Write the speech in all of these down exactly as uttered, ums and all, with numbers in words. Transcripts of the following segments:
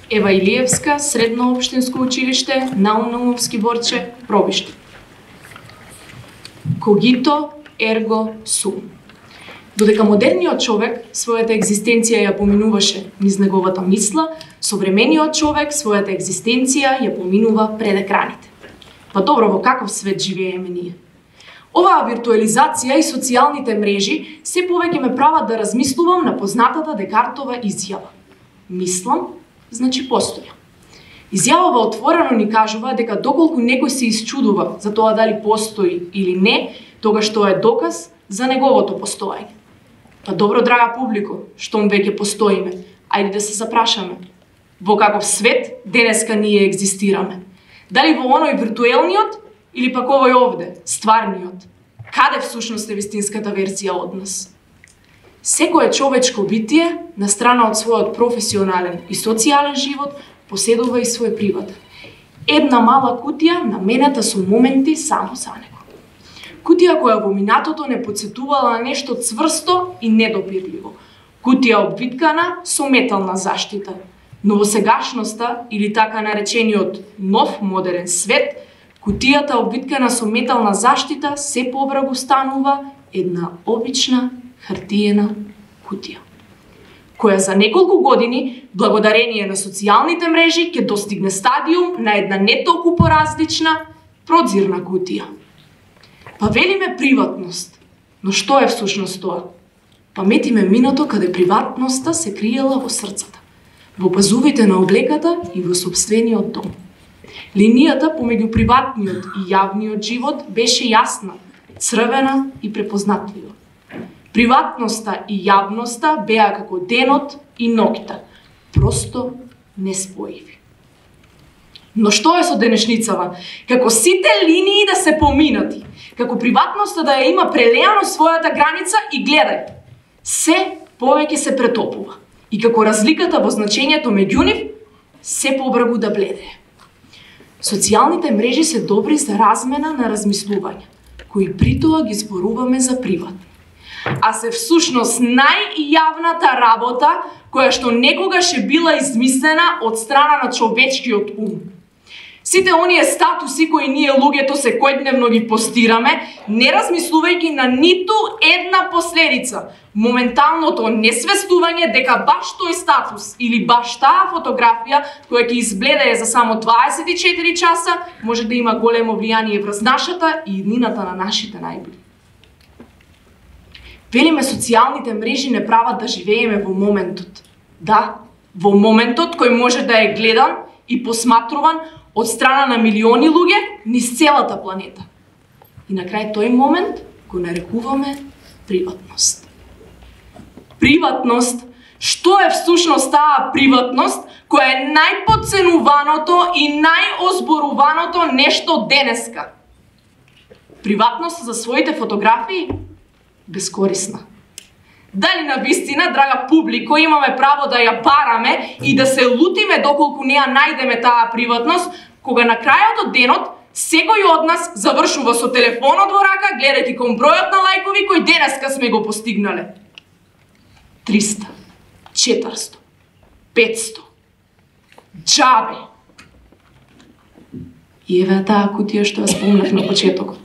Ева Илиевска, Средно општинско училиште, Наум Наумовски Борче, Пробиште. Когито ерго сум. Додека модерниот човек својата екзистенција ја поминуваше низ неговата мисла, современиот човек својата екзистенција ја поминува пред екраните. Па добро, во каков свет живееме ние? Оваа виртуализација и социјалните мрежи се повеќе ме прават да размислувам на познатата Декартова изјава. Мислам, значи постојам. Изјавава отворено ни кажува дека доколку некој се исчудува за тоа дали постои или не, тогаш тоа е доказ за неговото постоење. Па добро, драга публико, штом веќе постоиме, ајде да се запрашаме. Во каков свет денеска ние екзистираме? Дали во оној виртуелниот или пак овој овде, стварниот? Каде всушност е вистинската верзија од нас? Секое човечко битие, на страна од својот професионален и социјален живот, поседува и свој приватен. Една мала кутија наменета со моменти само за него. Кутија која во минатото не подсетувала на нешто цврсто и недопирливо. Кутија обвиткана со метална заштита. Но во сегашноста, или така наречениот нов модерен свет, кутијата обвиткана со метална заштита се побрагу станува една обична хартиена кутија, која за неколку години, благодарение на социјалните мрежи, ќе достигне стадиум на една не толку поразлична продзирна кутија. Па велиме приватност, но што е всушност тоа? Паметиме минато каде приватноста се криела во срцата, во пазувите на облеката и во сопствениот дом. Линијата помеѓу приватниот и јавниот живот беше јасна, црвена и препознатлива. Приватноста и јавноста беа како денот и ноќта, просто неспојиви. Но што е со денешницава? Како сите линии да се поминати, како приватноста да ја има прелеано својата граница и гледај, се повеќе се претопува. И како разликата во значењето меѓу нив се побрагу да бледее. Социјалните мрежи се добри за размена на размислувања, кои притоа ги зборуваме за приватни. А се всушност најјавната работа која што некогаш е била измислена од страна на човечкиот ум. Сите оние статуси кои ние луѓето секојдневно ги постираме, не размислувајќи на ниту една последица, моменталното несвестување дека баш тој статус или баш таа фотографија која ќе избледее за само дваесет и четири часа може да има големо влијание врз нашата и иднината на нашите најбли. Велиме социјалните мрежи не прават да живееме во моментот. Да, во моментот кој може да е гледан и посматруван од страна на милиони луѓе низ целата планета. И на крај тој момент го нарекуваме приватност. Приватност, што е всушност таа приватност која е најподценуваното и најозборуваното нешто денеска? Приватност за своите фотографии? Безкорисна. Дали на вистина, драга публико, имаме право да ја бараме и да се лутиме доколку не ја најдеме таа приватност, кога на крајот од денот секој од нас завршува со телефонот во рака, гледајќи кон бројот на лајкови кој денеска сме го постигнале? триста, четиристо, петсто. Џабе. И еве таа кутија што ја спомнав на почетокот.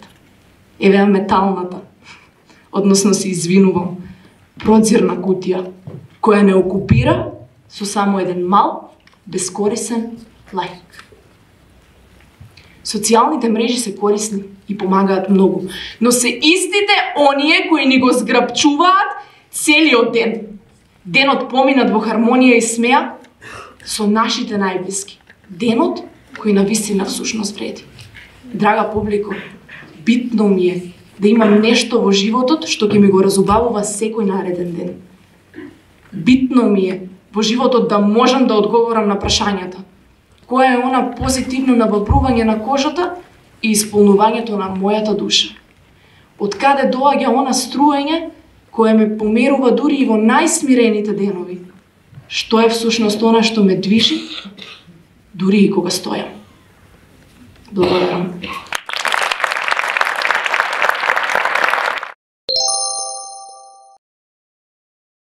Еве металната, односно се извинувам, продзирна кутија, која не окупира со само еден мал, безкорисен лајк. Социјалните мрежи се корисни и помагаат многу, но се истите оние кои ни го зграбчуваат целиот ден. Денот поминат во хармонија и смеа со нашите најблиски. Денот кој навистина всушност вреди. Драга публико, битно ми е да имам нешто во животот што ќе ми го разубавува секој нареден ден. Битно ми е во животот да можам да одговорам на прашањата. Која е она позитивно навапрување на кожата и исполнувањето на мојата душа? Од каде доаѓа она струење кое ме померува дури и во најсмирените денови? Што е всушност она што ме движи, дури и кога стојам? Благодарам.